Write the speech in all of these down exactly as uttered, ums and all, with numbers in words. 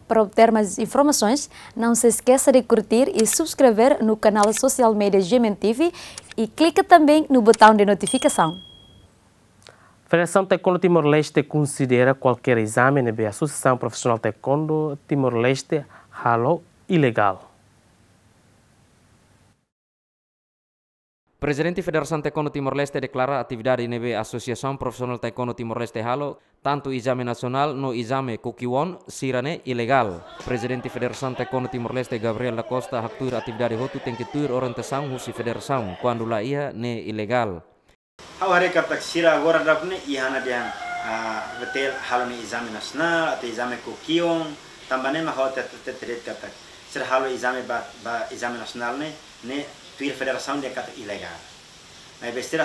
Para obter mais informações, não se esqueça de curtir e subscrever no canal social media G M N T V e clica também no botão de notificação. Federasaun Taekwondo Timor-Leste konsidera kualkér ezame ne'ebé Asosiasaun Profisionál Taekwondo Timor-Leste halo ilegál. Prezidente Federasaun Taekwondo Timor-Leste deklara atividade ne'ebé Asosiasaun Profisionál Taekwondo Timor-Leste halo, tantu ezame nasionál no ezame Kukkiwon sira-ne'e ilegál. Prezidente Federasaun Taekwondo Timor-Leste Gabriel da Costa haktuir atividade hotu tenke tuir orientasaun husi federasaun, kuandu la iha ne'e ilegál. Ha'u haree katak sira agora daudaun ne'e iha ona dehan, ah, betul halo ne'e ezame nasionál, atu ezame Kukkiwon, tanba ne'e mak ha'u hatete, hatete de'it katak sira halo ezame ba, ba ezame nasionál ne'e, ne'e tuir federasaun dehan katak ilegál. Maibé sira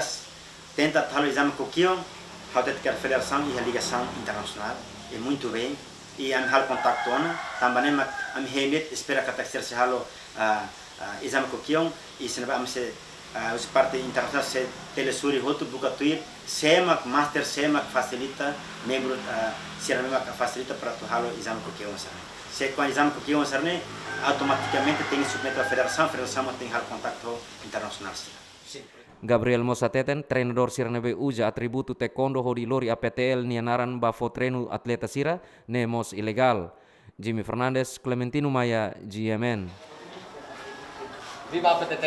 tenta halo ezame Kukkiwon, ha'u hatete katak federasaun iha ligasaun internasionál, e muitu bein, i ami halo kontaktu ona, tanba ne'e mak ami hein de'it, espera katak sira sei halo, ah, ah, ezame Kukkiwon, i se ne'ebé ami sei, ah, husi parte internasionál sei telesuri hotu buka tuir, sé mak master, sé mak fasilita, membru, ah, sira-ne'e mak fasilita para atu halo ezame Kukkiwon sira-ne'e. Se kuandu ezame Kukkiwon sira-ne'e, automatikamente tenke submete ba federasaun, federasaun mak tenke halo kontaktu internasionál sira. Gabriel mós hateten, treinadór sira ne'ebé uza atributu taekwondo hodi lori A P T L nia naran ba fó treinu atleta sira, ne'e mós ilegál. Jimmy Fernandes, Clementino Maia, G M N. Viva A P T T!